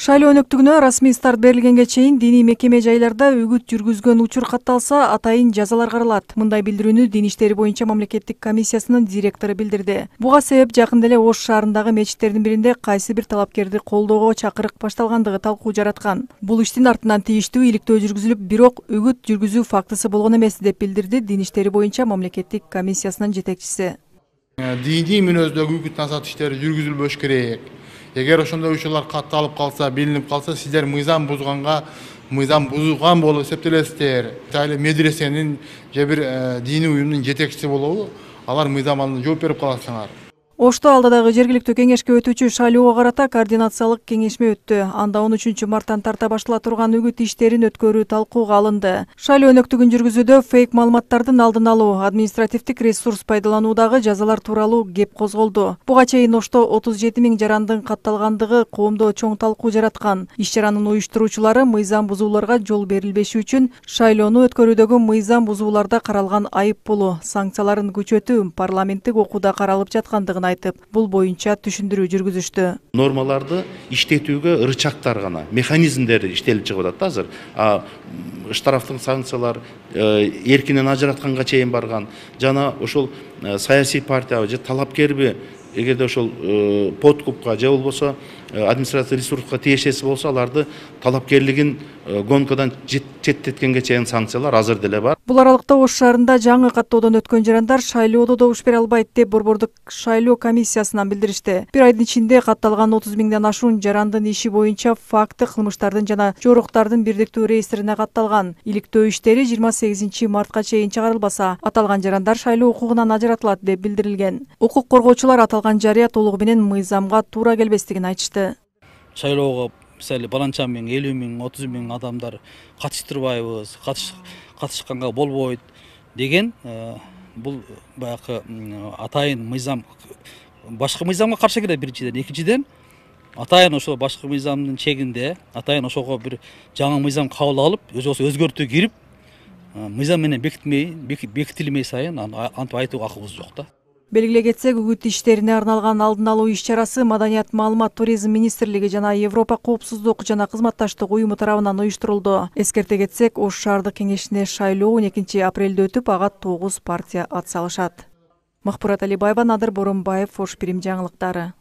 Шайлоо өнөктүгүнө расмий старт берилгенге чейин диний мекеме жайларда үгүт жүргүзгөн учур катталса, атайын жазалар каралат. Мындай билдирүүнү Дин иштери боюнча мамлекеттик комиссиясынын директору билдирди. Буга себеп жакында эле Ош шаарындагы мечиттердин биринде кайсы бир талапкерди колдоого чакырык башталгандыгы талкуу жараткан. Бул иштин артынан тийиштүү иликтөө жүргүзүлүп, бирок үгүт жүргүзүү фактысы болгон эмес, деп билдирди Дин иштери боюнча мамлекеттик комиссиясынын жетекчиси. Диний мүнөздөгү үгүт насаат иштери жүргүзүлбөш керек. Эгер ошондой учурлар катталып калса, билинип калса, сиздер мыйзам бузган болуп эсептелесиздер. Айыл медресенин же бир диний уюмдун жетекчиси болобу, алар мыйзам алдында жооп берип каласыңар. Ошто алдыдагы жергиликтүү кеңешке өтүүчү шайлоого карата координациялык кеңешме өттү. Анда 13 марттан тарта баштала турган үгүт иштерин өткөрүү талкууга алынды. Шайлоо өнөктүгүн жүргүзүүдө фейк маалыматтардын алдын алуу, административдик ресурс пайдалануудагы жазалар тууралуу кеп козголду. Буга чейин Ошто 37 000 жарандын катталгандыгы коомдо чоң талкуу жараткан. Иш-чаранын уюштуруучулары мыйзам бузууларга жол берилбеши үчүн шайлоону өткөрүүдөгү мыйзам бузууларда каралган айып пулу, санкцияларын күчөтүү парламенттик окууда каралып жаткандыгын айтып, бул боюнча түшүндүрүү жүргүзүштү. Нормаларды иштетүүгө ырычактар гана, механизмдер иштелип чыгып атат азыр. Штрафтын санкциялар эркинен ажыратканга чейин барган. Жана ошол саясий партия же талапкерби, эгерде ошол подкупка же болбосо административдик ресурска тиешеси болсо, аларды талапкерлигин гонкадан четтеткенге чейин санкциялар азыр деле бар. Бул аралыкта Ош шаарында жаңы каттоодон өткөн жарандар шайлоодо добуш бере албайт деп Борбордук шайлоо комиссиясынан билдиришти. Бир айдын ичинде катталган 30 000ден ашуун жарандын иши боюнча факты кылмыштардын жана жоруктардын бирдиктүү реестрине катталган. Иликтөө иштери 28 мартка чейин чыгарылбаса, аталган жарандар шайлоо укугунан ажыратылат деп билдирилген. Укук коргоочулар аталган жарыя толугу менен мыйзамга туура келбестигин айтышты. Шайлоого мисалы баланча 50 000, 30 000 адамдар катыштырбайбыз, катышканга болбойт деген бул баягы атайын мыйзам, башка мыйзамга каршы келет биринчиден. Экинчиден атайын ошо башка мыйзамдын чегинде атайын ошого бир жаңы мыйзам кабыл алып, өзгөртүү кирип, мыйзам менен бекитилмей сайын антип айтууга акыбыз жок да. Белгилей кетсек, үгүт иштерине арналган алдын алуу иш-чарасы Маданият, маалымат, туризм министрлиги жана Европа коопсуздук жана кызматташтык уюму тарабынан уюштурулду. Эскерте кетсек, Ош шаардык кеңешине шайлоо 12 апрелде өтүп, ага 9 партия ат салышат. Махпурат Алибаева, Надыр Боронбаев, Ош Бирим жаңылыктары.